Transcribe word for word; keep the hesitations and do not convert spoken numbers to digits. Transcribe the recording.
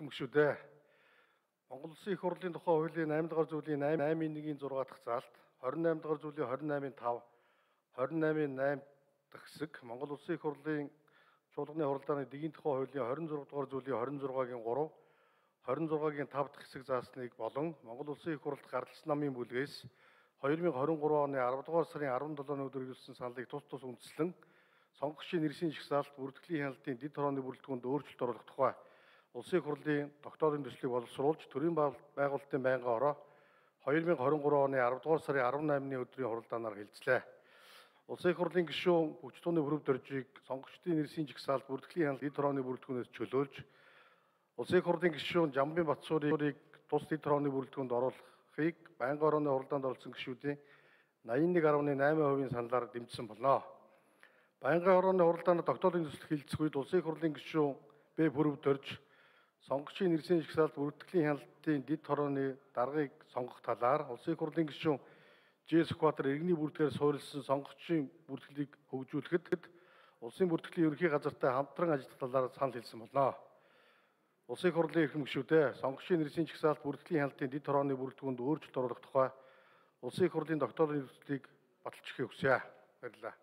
эрхэм гишүүдээ Монгол Улсын их хурлын тухай хуулийн eight дахь зүйлийн eight-ийн one-ийн six дахь заалт, twenty-eight дахь зүйлийн twenty-eight-ийн five, twenty-eight-ийн eight дахь хэсэг, Монгол Улсын их хурлын чуулганы хуралдааны дэгийн тухай хуулийн twenty-six дахь зүйлийн twenty-six-гийн three, twenty-six-гийн five дахь хэсэг заасныг болон Монгол Улсын их хурлд гарлалсан намын бүлгээс twenty twenty-three оны ten дугаар сарын seventh өдөр ирүүлсэн саналыг тус тус үндэслэн сонгогчийн нэрсийн жагсаалт бүртгэлийн хяналтын дэд хорооны бүрэлдэхүүнд өөрчлөлт оруулах тухай Улсын их хурлын тогтоодын төслийг боловсруулж төрийн байгуулалтын байнгын ороо twenty twenty-three оны ten дугаар сарын eighteen-ны өдрийн хуралдаанаар хэлцлээ. Улсын их хурлын гишүүн хүч тууны бүрэг дөржийг сонгогчдын нэрсийн жагсаалт бүртгэлийн хяналт дэд хорооны бүрэлдэхүүнээс чөлөөлж Улсын их хурлын гишүүн Жамбын Батсуурийг тус дэд хорооны бүрэлдэхүүнд оруулахыг байнгын орооны хуралдаанд оролцсон гишүүдийн ninety-one point eight percent саналаар дэмжсэн болно. Байнгын орооны хуралдаанд тогтоодын төсөл хилцэх үед Улсын их хурлын гишүүн Б бүрэг дөрж сонгогчийн нэрсийн жагсаалт бүртгэлийн хяналтын дэд хорооны даргыг сонгох талаар Улсын их хурлын гишүүн Ж Сүхбаатар иргэний бүртгэгээр суурилсан сонгогчийн бүртгэлийг хөгжүүлэхэд улсын бүртгэлийн ерөнхий газартай хамтран ажиллах талаар санал хэлсэн болно. Улсын их хурлын эрхэм гишүүдээ сонгогчийн нэрсийн жагсаалт бүртгэлийн хяналтын дэд хорооны бүрэлдэхүүнд өөрчлөлт оруулах тухай Улсын их хурлын тогтоодын төслийг баталж өгөхийг хүсье. Баярлалаа.